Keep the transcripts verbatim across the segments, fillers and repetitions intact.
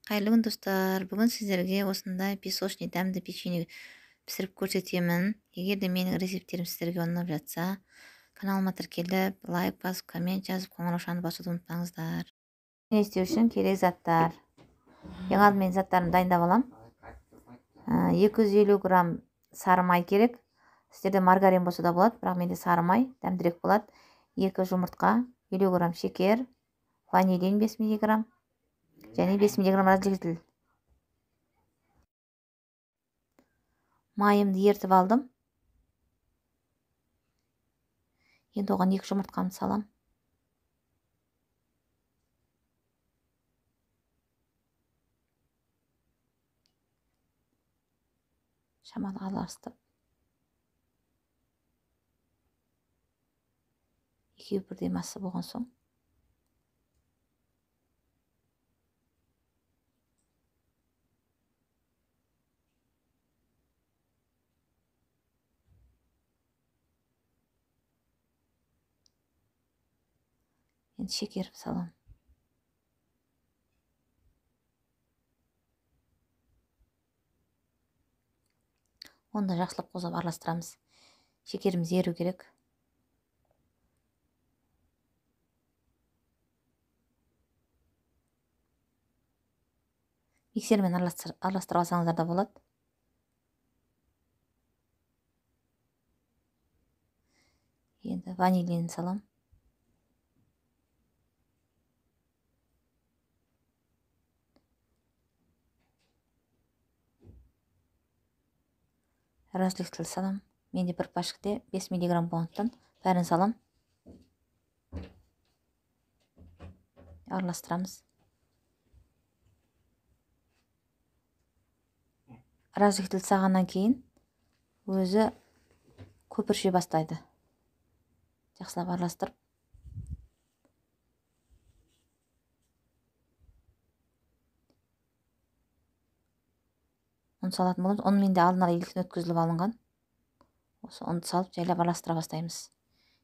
Қайырлы күн достар, бүгін сіздерге осындай песочный дәмді печенье пісіріп көрсетемін. Егер де менің рецептерім сіздерге ұнап жатса, каналыма тіркеліп, лайк басып, коммент жазып, қоңыраушаны басуды ұмытпаңыздар. Не істеу үшін керек заттар. Ең алдымен заттарын дайындап алам. екі жүз елу грамм сары май керек. Сіздерде маргарин болса да болады, бірақ менде сары май дәмдірек болады. екі жұмыртқа, елу грамм шекер, ванилин бес миллиграмм. және бес миллиграмм разделитель. Майымды ертіп алдым. Енді оған екі жұмыртқамды салам. Шамалы араластырып. Екеуі бірдей масса болған соң енді шекер салам. Оны да жақсылап қозып араластырамыз. Шекеріміз еру керек. Миксермен араластырып алсаңыздар да болады. Енді ванилин салам. Разделитель салам. Менде бір пачкте бес миллиграмм болғандықтан бәрін салам. Араластырамыз. Разделитель салғаннан кейін өзі көпірше бастайды. Жақсылап араластырып. Ұн салатын боламыз. Ұн менде алдын ала електен өткізіліп алынған. Осы ұнды салып жайлап араластыра бастаймыз.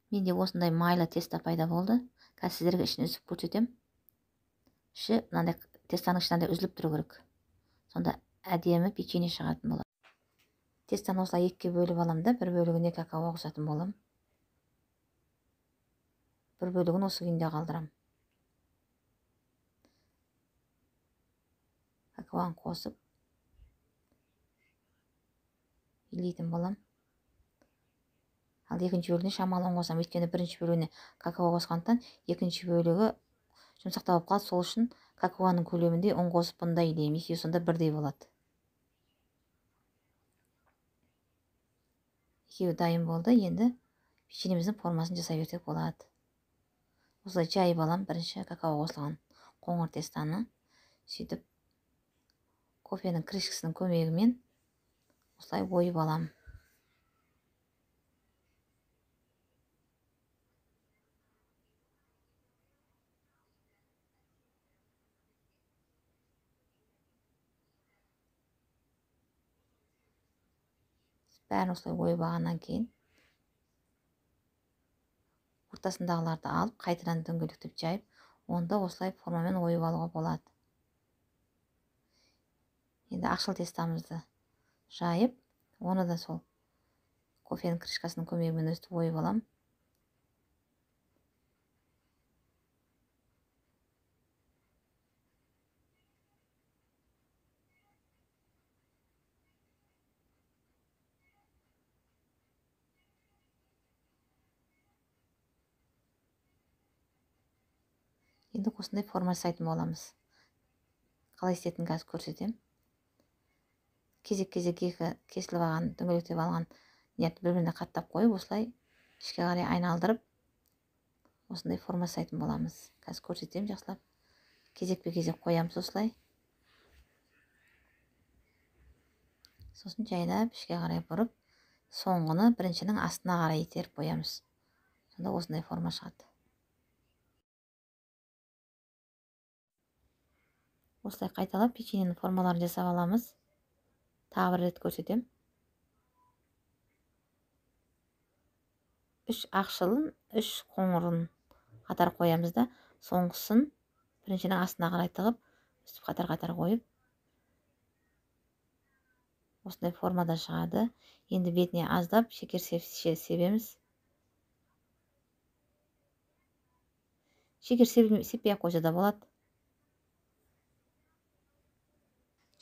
Менде осындай майлы теста пайда болды. Қазір сіздерге ішін үзіп көрсетем. Іші мынандай тестаның ішінде үзіліп тұру керек. Сонда әдемі печенье шығатын болады. Тестаны осылай екіге бөліп алам да, бір бөлігіне какао қосатын болам. Бір бөлігін осы күйінде қалдырам. Какаоны қосып илейтін болам. Ал екінші бөлігіне шамалы ұн қосам. Өйткені бірінші бөлігіне какао қосқандықтан екінші бөлігі жұмсақтау болып қалады. Сол үшін какаоның көлемінде ұн қосып бұнда илеймін. Екеуі сонда бірдей болады. Екеуі дайын болды. Енді печеньеміздің формасын жасай берсек болады. Осылай жайып алам бірінші какао қосылған қоңыр тестаны. Сөйтіп кофенің крышкасының көмегімен осылай ойып алам. Бәрін осылай ойып алғаннан кейін ортасындағыларды алып, қайтадан дөңгелектеп жайып, онда осылай формамен ойып алуға болады. Енді ақшыл тестамызды жайып, оны да сол кофенің крышкасының көмегімен өстіп ойып алам. Енді осындай форма жасайтын боламыз. Қалай істейтінін қазір көрсетем. Кезек-кезек екі кесіліп алған, дөңгелектеп алған нерді бір-біріне қаттап қойып, осылай ішке қарай айналдырып, осындай форма жасайтын боламыз. Қазір көрсетем жақсылап. Кезекпе-кезек қоямыз осылай. Сосын жайлап ішке қарай бұрып, соңғыны біріншінің астына қарай итеріп қоямыз. Сонда осындай форма шығады. Осылай қайталап печеньенің формаларын жасап аламыз. Тағы бір рет көрсетем. Үш ақшылын, үш қоңырын қатар қоямыз да, соңғысын біріншінің астына қарай тығып, өстіп қатар-қатар қойып осындай формада шығады. Енді бетіне аздап шекер себеміз. Шекер сеппей ақ қойса да болады.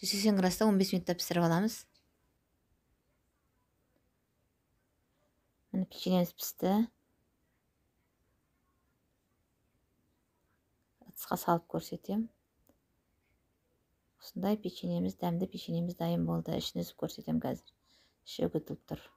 жүз сексен градуста он бес минутта пісіріп аламыз. Міне печеньеміз пісті. Ыдысқа салып көрсетем. Осындай печеньеміз, дәмді печеньеміз дайын болды. Ішін үзіп көрсетем қазір. Іші үгітіліп тұр.